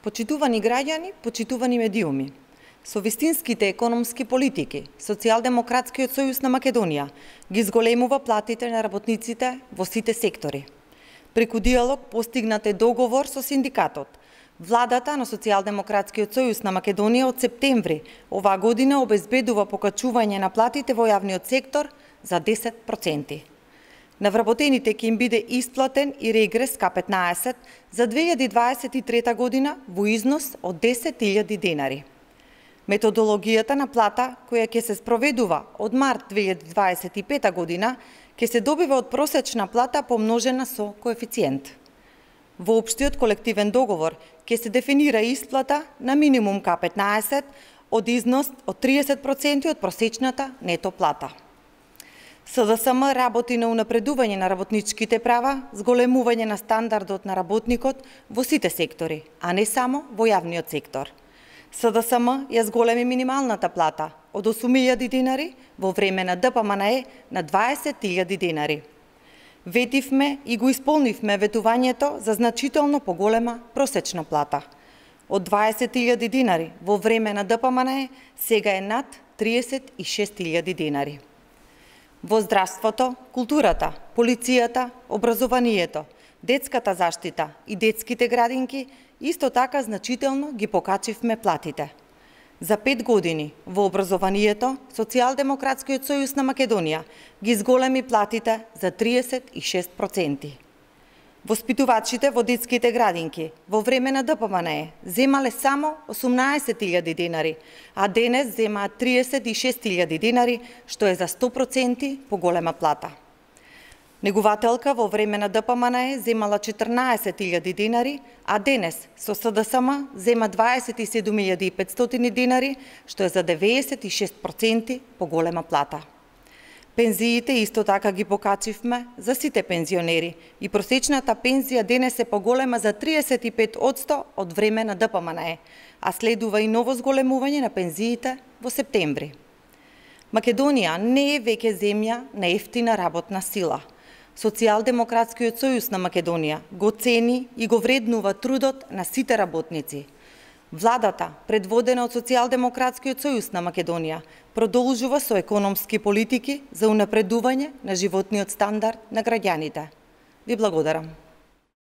Почитувани граѓани, почитувани медиуми, со вистинските економски политики, Социјалдемократскиот сојуз на Македонија ги зголемува платите на работниците во сите сектори. Преку диалог постигнат е договор со синдикатот. Владата на Социјалдемократскиот сојуз на Македонија од септември оваа година обезбедува покачување на платите во јавниот сектор за 10%. На вработените ќе им биде исплатен и регрес К15 за 2023 година во износ од 10.000 денари. Методологијата на плата, која ќе се спроведува од март 2025 година, ќе се добива од просечна плата помножена со коефициент. Во општиот колективен договор ќе се дефинира исплата на минимум К15 од износ од 30% од просечната нето плата. СДСМ работи на унапредување на работничките права, зголемување на стандардот на работникот во сите сектори, а не само во јавниот сектор. СДСМ ја зголеми минималната плата од 8.000 денари во време на ДПМНЕ на 20.000 денари. Ветивме и го исполнивме ветувањето за значително поголема просечна плата. Од 20.000 денари во време на ДПМНЕ сега е над 36.000 денари. Во здравството, културата, полицијата, образованието, детската заштита и детските градинки исто така значително ги покачивме платите. За 5 години во образованието Социјалдемократскиот сојуз на Македонија ги зголеми платите за 36%. Воспитувачите во детските градинки во време на ДПМНЕ земале само 18.000 денари, а денес земаат 36.000 денари, што е за 100% поголема плата. Негувателка во време на ДПМНЕ земала 14.000 денари, а денес со СДСМ зема 27.500 денари, што е за 96% поголема плата. Пензиите исто така ги покачивме за сите пензионери и просечната пензија денес е поголема за 35% од време на ДПМНЕ, а следува и ново зголемување на пензиите во септември. Македонија не е веќе земја на ефтина работна сила. Социјалдемократскиот сојуз на Македонија го цени и го вреднува трудот на сите работници. Владата, предводена од Социјалдемократскиот сојуз на Македонија, продолжува со економски политики за унапредување на животниот стандард на граѓаните. Ви благодарам.